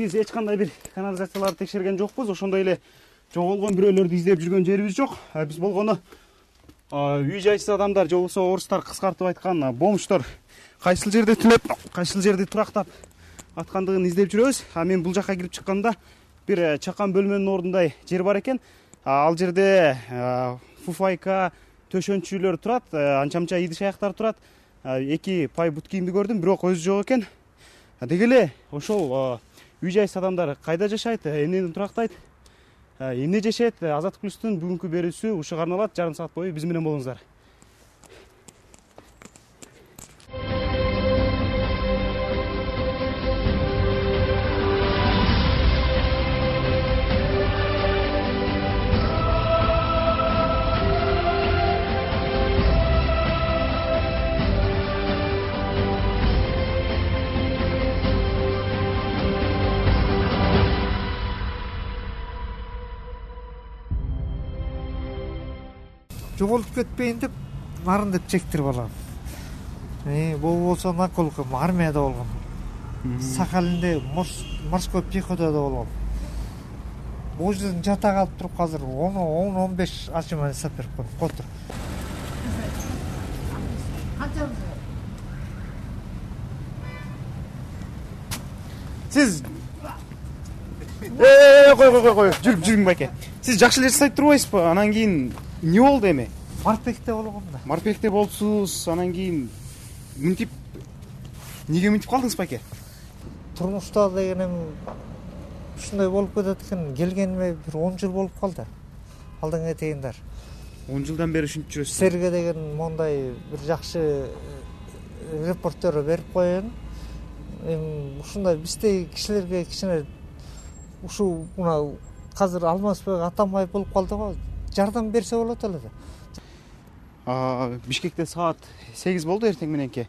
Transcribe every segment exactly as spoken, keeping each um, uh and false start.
биз эч кандай бир канализацияларды текшерген жокпуз. Ошондой эле жоголгон бирөөлөрдү издеп жүргөн жерибиз жок. Биз болгону үй жайсыз адамдар же болбосо орустар кыскартып айткан бомждор кайсыл жерде түнөп, кайсыл жерде турактап аткандыгын издеп жүрөбүз. А мен бул жакка кирип чыкканда бир чакан бөлмөнүн ордундай жер бар экен. Ал жерде фуфайка, төшөнчүлөр турат, анча-мынча идиш-аяктар турат. Эки пай бут кийимди көрдүм, бирок өзү жок экен. Деги эле ошол үй жайсыз адамдар кайда жашайт, эмнени турактайт, эмне жешет? Азаттык плюстун бүгүнкү берүүсү ушуга арналат. Жарым саат бою биз менен болуңуздар. Жоголуп кетпейин деп нарын деп чектирип алам. Э, бул болсо наколком армияда болгом. Сахалинде морской пехотада болгом. Бул жерден жата калып туруп азыр он он беш ачыма сап берип коем. Котур. Сиз Э, кой кой кой, жүрүп жүрүң байке. Сиз жакшы эле жасайт турбайсызбы? Анан кийин эмне болду эми? Марпекте болгом да. Марпекте болсуз, анан кийин мынтип эмнеге мынтип калдыңыз байке? Турмушта дегенем ушундай болуп кетет экен. Келгениме бир он жыл болуп калды. Алдыңа этейиндар. он жылдан бери ушинтип жүрөсүз. Серге деген мондай бир жакшы репортер берип коеюн. Эми ушундай биздей кишилерге кичине ушул мына азыр Алмазбек Атамбаев болуп калды го. Жардам берсе болот эле да. Бишкекте саат сегиз болду эртең мененки.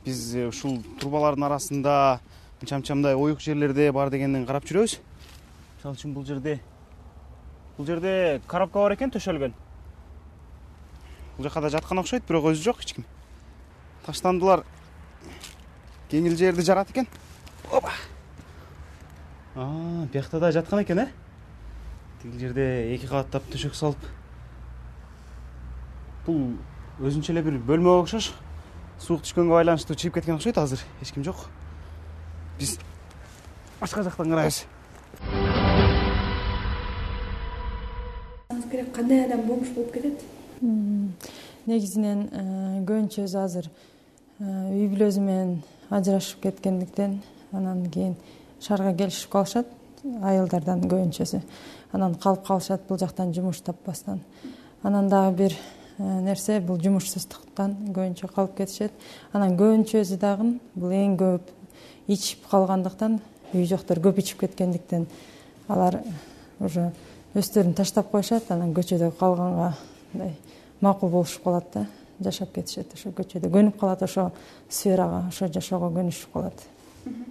Биз ушул трубалардын арасында чам-чамдай оюк жерлерде бар дегенден карап жүрөбүз. Мисалы үчүн бул жерде бул жерде коробка бар экен төшөлгөн. Бул жакка да жаткан окшойт, бирок өзү жок эч ким. Таштандылар. Кеңил жерди жарат экен. Опа. А, биякта да жаткан экен, э? Тигил жерде эки кабаттап төшөк салып. Бул өзүнчө эле бир бөлмө окшош. Суук түшкөнгө байланыштуу чыгып кеткен окшойт азыр. Эч ким жок. Биз башка жактан карайбыз. Керек кандай адам бомж болуп кетет? Негизинен көбүнчөсү азыр үй бүлөсү менен ажырашып кеткендиктен анан кийин шаарга келишип калышат, айылдардан көбүнчөсү. Анан калып калышат бул жактан жумуш таппастан. Анан дагы бир нерсе бул жумушсуздуктан көбүнчө калып кетишет. Анан көбүнчөсү дагы бул эң көп ичип калгандыктан, үй жоктор көп ичип кеткендиктен алар уже өздөрүн таштап коюшат, анан көчөдө калганга мындай макул болушуп калат да, жашап кетишет. Ошо көчөдө көнүп калат, ошо сферага, ошо жашоого көнүшүп калат.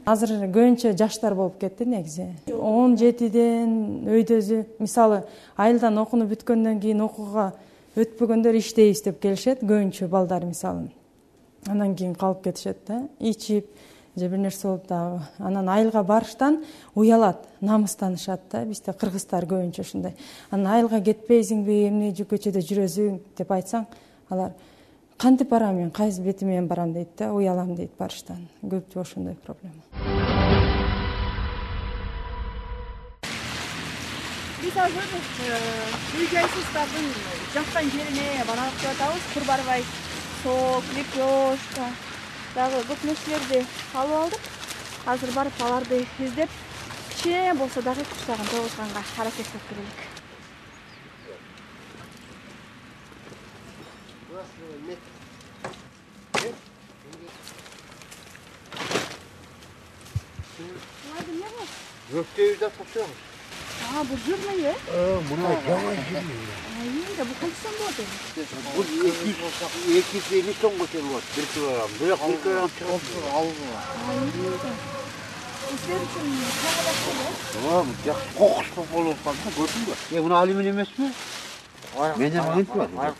Азыр көбүнчө жаштар болуп кетти негизи. он жетиден өйдөзү, мисалы, айылдан окууну бүткөндөн кийин окууга өтпөгөндөр иштейбиз деп келишет, көбүнчө балдар мисалы. Анан кийин калып кетишет да, ичип же бир нерсе болуп дагы. Анан айылга барыштан уялат, намыстанышат да, бизде кыргыздар көбүнчө ушундай. Анан айылга кетпейсиңби, эмне көчөдө жүрөсүң деп айтсаң, алар кантип барам мен, кайсы бети менен барам дейт да, уялам дейт барыштан. Көпчү ошондой проблема. Биз азыр үй жайсыздардын жаккан жерине баралып деп атабыз. Курбарбай, сок, лепешка, дагы көп нерселерди алып алдык. Азыр барып аларды издеп, кичине болсо дагы курсагын тогузганга аракет кылып келелик. Gökdeği de tutuyormuş. Aa, bu jürmü ya? Ee, buna yalan jürmü ya. Ay, da bu kaçtan bu adı? Bu iki yüz elli ton götürüyor. Bir kilogram. Böyle bir kilogram çıkıyor. Algılar. Ay, da. İşler için ne kadar şey? Tamam, ya kokusu olur falan. Gördün mü? Ya bunu alüminyum etme. Benden magnet var.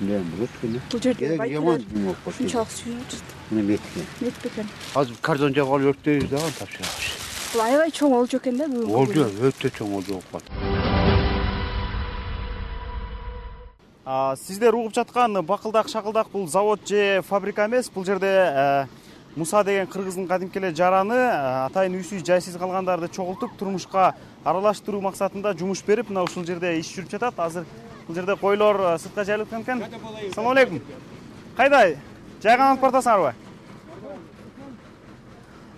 Ne bu? Bu жерде yaman bir yok. Şunçalık suyu çıktı. Bunu metken. Metbeken. Az kardonca kal örtüyoruz daha tapşırmış. бул аябай чоң болчу экен да бүгүнкү. Олжо өтө чоң олжо болуп калды. Сиздер угуп жаткан бакылдак шакылдак бул завод же фабрика эмес. Бул жерде Муса деген кыргыздын кадимки эле жараны атайын үйсүз жайсыз калгандарды чогултуп турмушка аралаштыруу максатында жумуш берип, мына ушул жерде иш жүрүп жатат. Азыр бул жерде койлор сыртка жайылып жаткан экен. Assalomu алейкум. Кайда? Жайган алып бартасыңарбы?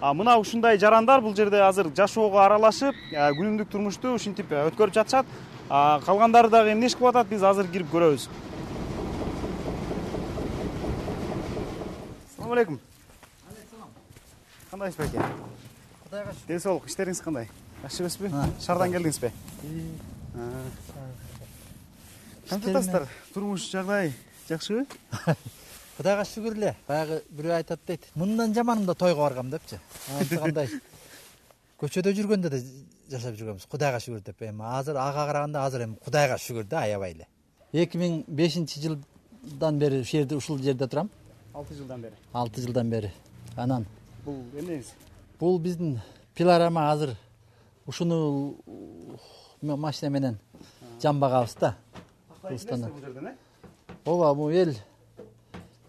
А мына ушундай жарандар бул жерде азыр жашоого аралашып, күнүмдүк турмушту ушинтип өткөрүп жатышат. Калгандары дагы эмне иш кылып атат, биз азыр кирип көрөбүз. Assalomu алейкум. Кандайсыз беке? Кудайга шүкүр. Ден соолук, иштериңиз кандай? Жакшы эмеспи? Шаардан келдиңизби? Кантип атасыздар? Турмуш жагдай жакшыбы? Кудайга шүгүр эле. Баягы бирөө айтат дейт. Мындан жаманымда тойго баргам депчи. Анысы кандай? Көчөдө жүргөндө да жашап жүргөнбүз. Кудайга шүгүр деп. Эми азыр ага караганда азыр эми Кудайга шүгүр да, аябай эле. эки миң бешинчи жылдан бери ушул жерде ушул жерде турам. алты жылдан бери. алты жылдан бери. Анан Бул эмнеңиз? бул биздин пилорама азыр ушуну машина менен жамбагабыз да. Кыргызстандан. Ооба, бул эл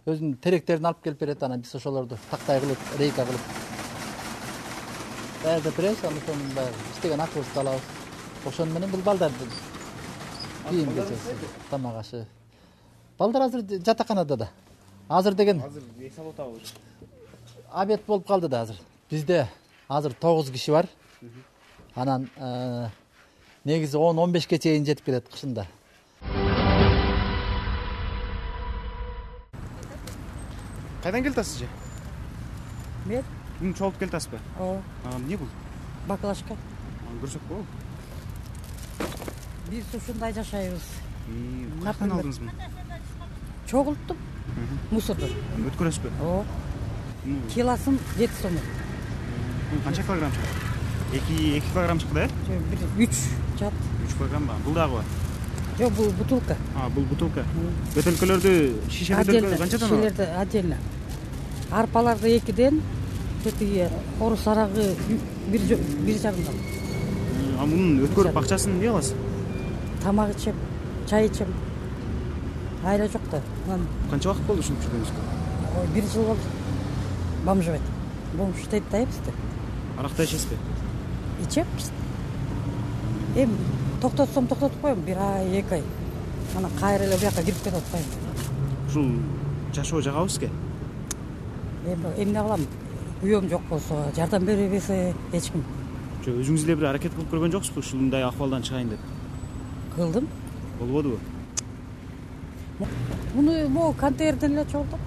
өзүнүн теректерин алып келип берет, анан биз ошолорду тактай кылып, рейка кылып даярдап беребиз, анан ошонун баягы иштеген акыбызды алабыз. Ошону менен бул балдарды кийим кечебиз, тамак ашы. Балдар азыр жатаканада да. Азыр деген Азыр эс алып атабыз. обед болуп калды да азыр. Бизде азыр тогуз киши бар. Анан негизи он он бешке чейин жетип кетет кышында. Кайдан келип атасыз же? Мен? Бүгүн чогулуп келип атасызбы? Ооба. Эмне бул? Баклажка. Көрсөкпү? Биз ушундай жашайбыз. Каяктан алдыңызбы? Чогулттуп, мусордон. Өткөрөсүзбү? Ооба. Килосын жети сом. Канча килограмм чыгат? эки килограмм чыкты, э? үч чат. үч килограмм ба? Бул дагыбы? Жок, бул бутылка. А, бул бутылка. Бөтөлкөлөрдү, шише бөтөлкө канчадан алат? Шишелерди отдельно. Арпаларды экиден, тетиги орус арагы бир бир жарымдан. А мунун өткөрүп акчасын эмне кыласыз? Тамак ичем, чай ичем. Айла жок да. Канча убакыт болду ушинтип жүргөнүзгө? Бир жыл болду. Бомжубайт. Бомжтайт дайбызды. Аракта ичесизби? Ичемиз. Эми токтотсом токтотуп коем, бир ай, эки ай. Анан кайра эле бияка кирип кетип атпайм. Ушул жашоо жагабы сизге? Эми эмне кылам? Күйөөм жок болсо, жардам бере берсе эч ким. Жо өзүңүз эле бир аракет кылып көргөн жоксузбу ушундай акыбалдан чыгайын деп? Кылдым. Болбодубу? Муну могу контейнерден эле чогултуп.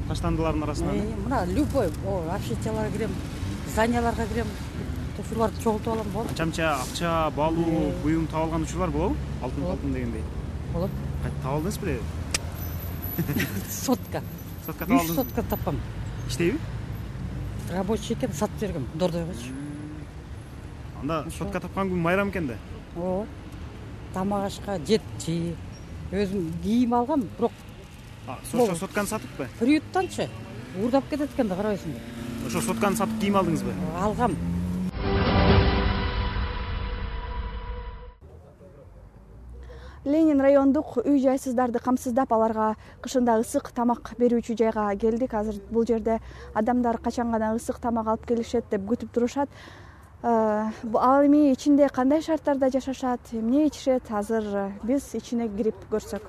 Таштандылардын арасынан? Мына любой, общежитияларга кирем, зданияларга кирем. Ушуларды чогултуп алам болот. Чамча, акча, балуу, буюм таап алган учурлар болобу? Алтын алтын дегендей. Болот. Кантип таап алдыңыз беле? Сотка. Сотка таап үч алдыңыз? сотка тапкам. Иштейби? Рабочий экен, сатып бергем Дордойгочу. Анда сотка тапкан күн майрам экен да. Ооба. Тамак ашка жетчи. Өзүм кийим алгам, бирок ошо сотканы сатыппы? приюттанчы уурдап кетет экен да, карабайсыңбы? Ошо сотканы сатып кийим алдыңызбы? Алгам. Ленин райондук үй жайсыздарды камсыздап, аларга кышында ысык тамак берүүчү жайга келдик. Азыр бул жерде адамдар качан гана ысык тамак алып келишет деп күтүп турушат. Ал эми ичинде кандай шарттарда жашашат, эмне ичишет, азыр биз ичине кирип көрсөк.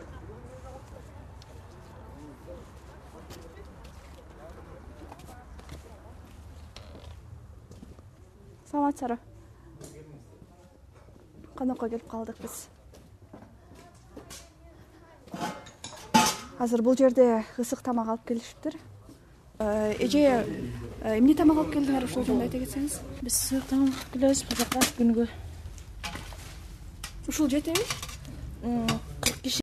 Саламатсыздарбы? Конокко келип калдык биз. Азыр бул жерде ысык тамак алып келишиптир. Эже, эмне тамак алып келдиңер, ошол жөнүндө айта кетсеңиз? Биз ысык тамак келебиз базарга күнгө. Ушул жетеби?